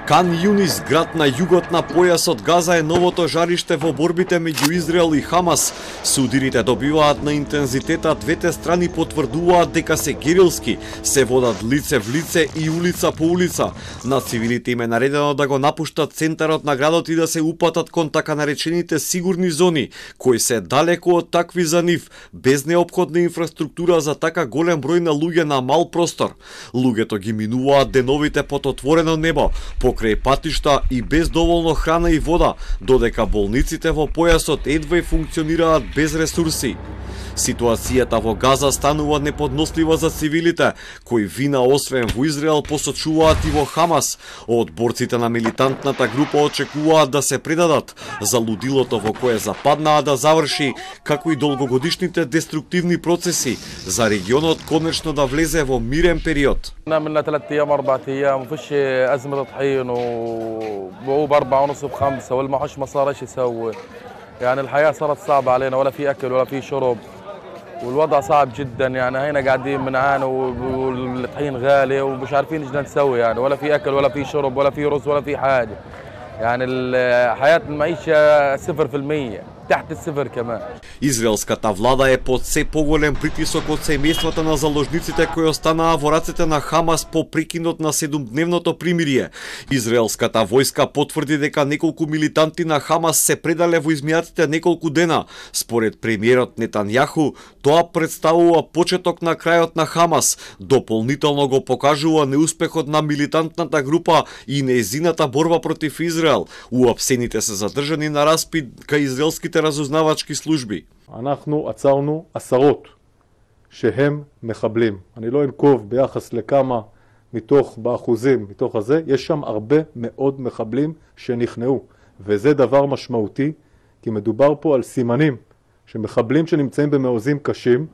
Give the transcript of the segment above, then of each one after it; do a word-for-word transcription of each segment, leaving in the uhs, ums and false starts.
Кан Јунис, град на југот на појасот Газа, е новото жариште во борбите меѓу Израел и Хамас. Судирите добиваат на интензитета, двете страни потврдуваат дека се герилски, се водат лице в лице и улица по улица. На цивилите им е наредено да го напуштат центарот на градот и да се упатат кон така наречените сигурни зони, кои се далеко од такви за нив, без неопходна инфраструктура за така голем број на луѓе на мал простор. Луѓето ги минуваат деновите под отворено небо, покрај патишта и без доволно храна и вода, додека болниците во појасот едва функционираат без ресурси. Ситуацијата во Газа станува неподнослива за цивилите, кои вина освен во Израел посочуваат и во Хамас. Од борците на милитантната група очекуваат да се предадат за лудилото во кое западнаа да заврши, како и долгогодишните деструктивни процеси, за регионот конечно да влезе во мирен период. عملنا ثلاث ايام اربع ايام وفيش ازمه طحين وهو باربعة ونص بخمسه والمعاش ما صار ايش يسوي. يعني الحياه صارت صعبه علينا، ولا في اكل ولا في شرب والوضع صعب جدا. يعني هنا قاعدين بنعاني والطحين غالي ومش عارفين ايش بدنا نسوي، يعني ولا في اكل ولا في شرب ولا في رز ولا في حاجه. يعني حياه المعيشه صفر في المية. تحت الصفر كمان. Израелската влада е под се поголем притисок од семејствата на заложниците кои останаа во рацете на Хамас по прекинот на седумдневното примирие. Израелската војска потврди дека неколку милитанти на Хамас се предале во изминатите неколку дена. Според премиерот Нетањаху, тоа представува почеток на крајот на Хамас. Дополнително го покажува неуспехот на милитантната група и нејзината борба против Израел. Уапсените се задржани на распит кај израелските разузнавачки служби. אנחנו עצרנו עשרות שהם מחבלים. אני לא אנקוב ביחס לכמה מתוך, באחוזים, מתוך הזה, יש שם הרבה מאוד מחבלים שנכנעו. וזה דבר משמעותי, כי מדובר פה על סימנים שמחבלים שנמצאים במעוזים קשים,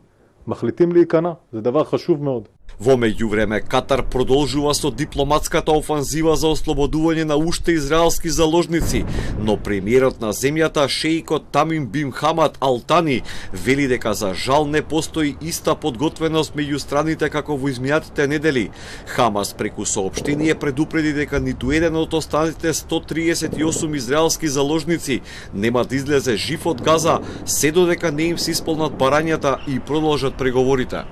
מחליטים להיכנע. זה דבר חשוב מאוד. Во меѓувреме, Катар продолжува со дипломатската офанзива за ослободување на уште израелски заложници, но премиерот на земјата, шеикот Тамим бин Хамад Ал Тани, вели дека за жал не постои иста подготвеност меѓу страните како во изминатите недели. Хамас преку соопштение предупреди дека ниту еден од останатите сто триесет и осум израелски заложници нема да излезе жив од Газа, се додека не им се исполнат барањата и продолжат преговорите.